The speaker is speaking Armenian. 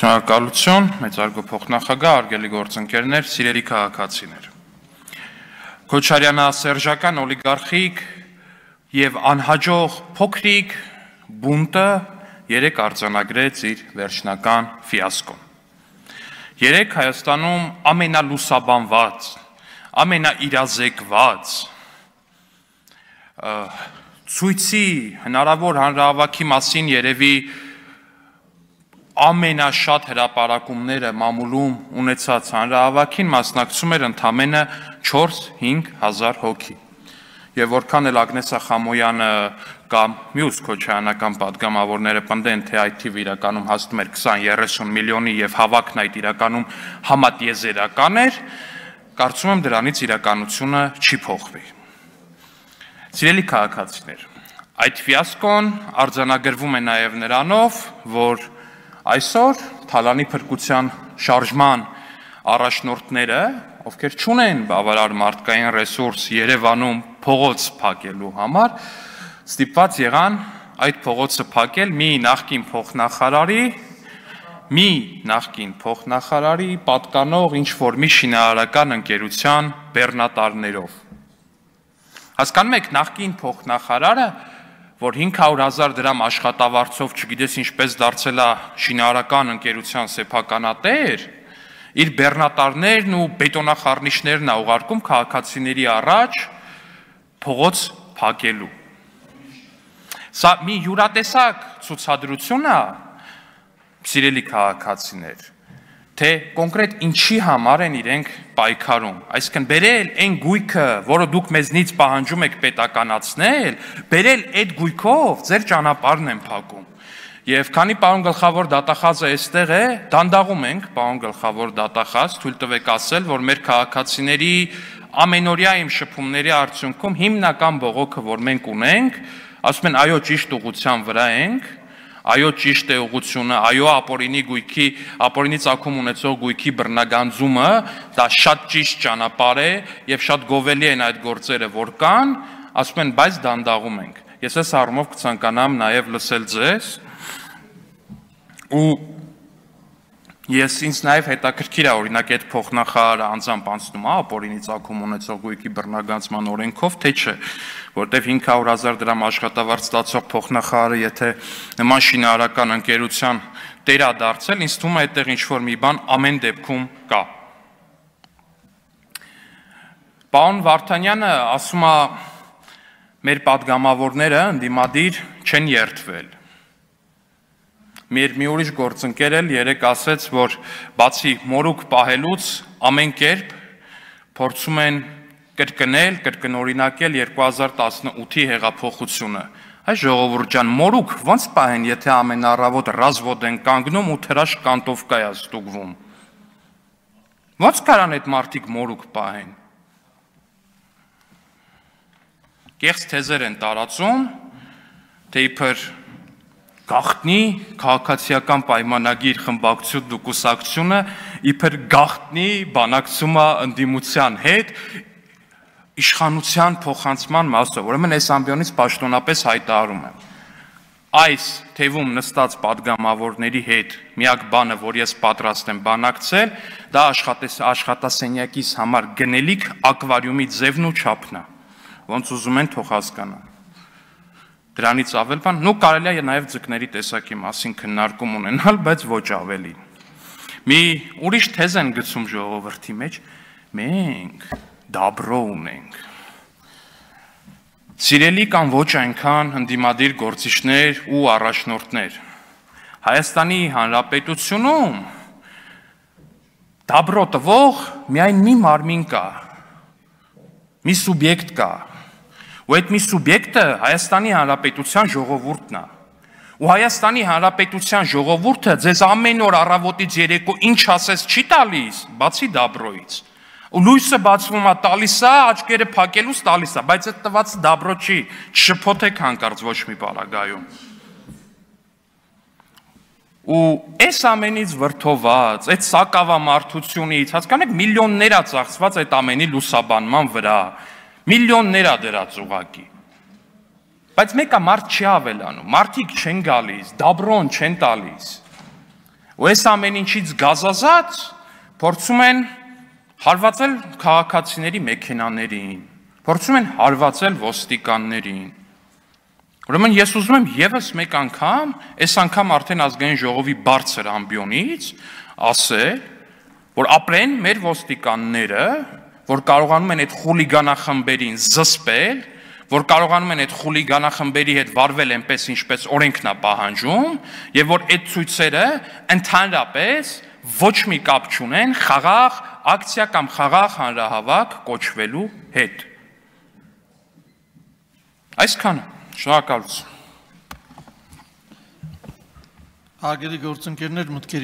Շնորհակալություն, մեծարգո փոխնախագահ, արգելի գործընկերներ, սիրելի քաղաքացիներ։ Քոչարյանը սերժական օլիգարխիկ եւ անհաջող փոքրիկ բունտը երեք արձանագրեց իր վերջնական ֆիասկոն։ Երեք Հայաստանում ամենալուսաբանված, ամենաիրազեկված ցույցի հնարավոր հանրահավաքի մասին երևի ամենաշատ հրապարակումները մամուլում ունեցած հանրահավաքին մասնակցում էր ընդամենը 4-5 հազար հոգի։ Եվ որքան էլ Ագնես Խամոյանը կամ մյուս քոչայանական պատգամավորները պնդեն, թե այդ թիվը իրականում հասնում էր 20-30 միլիոնի եւ հավաքն այդ իրականում համատիեզերական էր, կարծում եմ դրանից իրականությունը չի փոխվի։ Սիրելի քաղաքացիներ, այդ ֆիասկոն արձանագրվում է նաեւ նրանով, որ այսօր թալանի փրկության շարժման առաջնորդները, ովքեր չունեն բավարար մարդկային ռեսուրս Երևանում փողոց փակելու համար, ստիպված եղան այդ փողոցը փակել մի նախկին փոխնախարարի պատկանող ինչ-որ մի շինարարական ընկերության բեռնատարներով։ Հասկանում եք, նախկին փոխնախարարը, որ 500,000 դրամ աշխատավարձով չգիտես ինչպես դարձել է շինարարական ընկերության սեփականատեր, իր բեռնատարներն ու բետոնախառնիչներն է ուղարկում քաղաքացիների առաջ փողոց փակելու։ Սա մի յուրատեսակ ցուցադրություն է, սիրելի քաղաքացիներ, թե կոնկրետ ինչի համար են իրենք պայքարում, այսինքն բերել այն գույքը, որը դուք մեզնից պահանջում եք պետականացնել, բերել այդ գույքով ձեր ճանապարհն են փակում։ Եվ քանի պարոն գլխավոր դատախազը այստեղ է, դանդաղում ենք, պարոն գլխավոր դատախազ, թույլ տվեք ասել, որ մեր քաղաքացիների ամենօրյա իմ շփումների արդյունքում հիմնական բողոքը, որ մենք ունենք, ասում են այո ճիշտ ուղղության վրա ենք, այո ճիշտ է ուղղությունը, այո ապօրինի ծագում ունեցող գույքի բռնագանձումը, դա շատ ճիշտ ճանապարհ է եւ շատ գովելի են այդ գործերը, որ կան, ասում են, բայց դանդաղում ենք։ Ես այս առումով կցանկանամ նաեւ լսել ձեզ ու ինձ նաև հետաքրքիր է, օրինակ այդ փոխնախարարը անձամբ անցնում է ապօրինի ծագում ունեցող գույքի բռնագանձման օրենքով, թե չէ, որտեվ 500,000 դրամ աշխատավարձ ստացող փոխնախարարը, եթե նման շինարարական ընկերության տեր է դարձել, ինձ թվում է այդտեղ ինչ-որ մի բան ամեն դեպքում կա։ Պարոն Վարդանյանը ասում է, մեր պատգամավորները ընդդիմադիր չեն երդվել։ Մեր մի ուրիշ գործընկեր էլ երեք ասեց, որ բացի մորուք պահելուց ամեն կերպ փորձում են կրկնօրինակել 2018-ի հեղափոխությունը։ Այս ժողովուրդ ջան, մորուք ո՞նց պահեն, եթե ամեն առավոտ ռազվոդ են կանգնում ու թրաշ կանտովկա է ստուգվում։ Ո՞նց կարան այդ մարդիկ մորուք պահեն։ Կեղծ թեզեր են տարածում, թե իբր գաղտնի քաղաքացիական պայմանագիր խմբակցությունն ու կուսակցությունը իբր գաղտնի բանակցում է ընդդիմության հետ իշխանության փոխանցման մասով, ուրեմն այս ամբիոնից պաշտոնապես հայտարարում եմ։ Այս թևում նստած պատգամավորների հետ միակ բանը, որ ես պատրաստ եմ բանակցել, դա աշխատասենյակիս համար գնելիք ակվարիումի ձևն ու չափն է, ոնց ուզում են թող հասկանան։ Դրանից ավել բան, կարելի է նաև ձկների տեսակի մասին քննարկում ունենալ, բայց ոչ ավելի։ Մի ուրիշ թեզ են գցում ժողովրդի մեջ, մենք դաբրո ունենք։ Սիրելի կամ ոչ այնքան ընդդիմադիր գործիչներ ու առաջնորդներ, Հայաստանի Հանրապետությունում դաբրո տվող միայն մի մարմին կա, մի սուբյեկտ կա, ու այդ մի սուբյեկտը Հայաստանի Հանրապետության ժողովուրդն է։ Ու Հայաստանի Հանրապետության ժողովուրդը ձեզ ամեն օր առավոտից երեկո ինչ ասես չի տալիս, բացի դաբրոից։ Ու լույսը բացվում է տալիս է, աչքերը փակելուց տալիս է, բայց այդ տված դաբրո չի, չշփոթեք հանկարծ ոչ մի պարագայում։ Ու այս ամենից վրդոված, այդ սակավամարդությունից, հասկանեք, միլիոններ է ծախսված այդ ամենի լուսաբանման վրա, միլիոններ է դրած ուղակի։ Բայց մեկը մարդ չի ավելանում, մարդիկ չեն գալիս, դաբրոն չեն տալիս։ ու այս ամեն ինչից գազազած փորձում են հարվածել քաղաքացիների մեքենաներին, փորձում են հարվածել ոստիկաններին։ Ուրեմն ես ուզում եմ եւս մեկ անգամ, այս անգամ արդեն ազգային ժողովի բարձր ամբիոնից ասել, որ ապրեն մեր ոստիկանները, որ կարողանում են այդ խուլիգանախմբերին զսպել, որ կարողանում են այդ խուլիգանախմբերի հետ վարվել այնպես, ինչպես օրենքն է պահանջում, եւ որ այդ ցույցերը ընդհանրապես ոչ մի կապ չունեն խաղաղ ակցիա կամ խաղաղ հանրահավաք կոչվելու հետ։ Այսքանը, շնորհակալություն։ Հարգելի գործընկերներ, մտքերի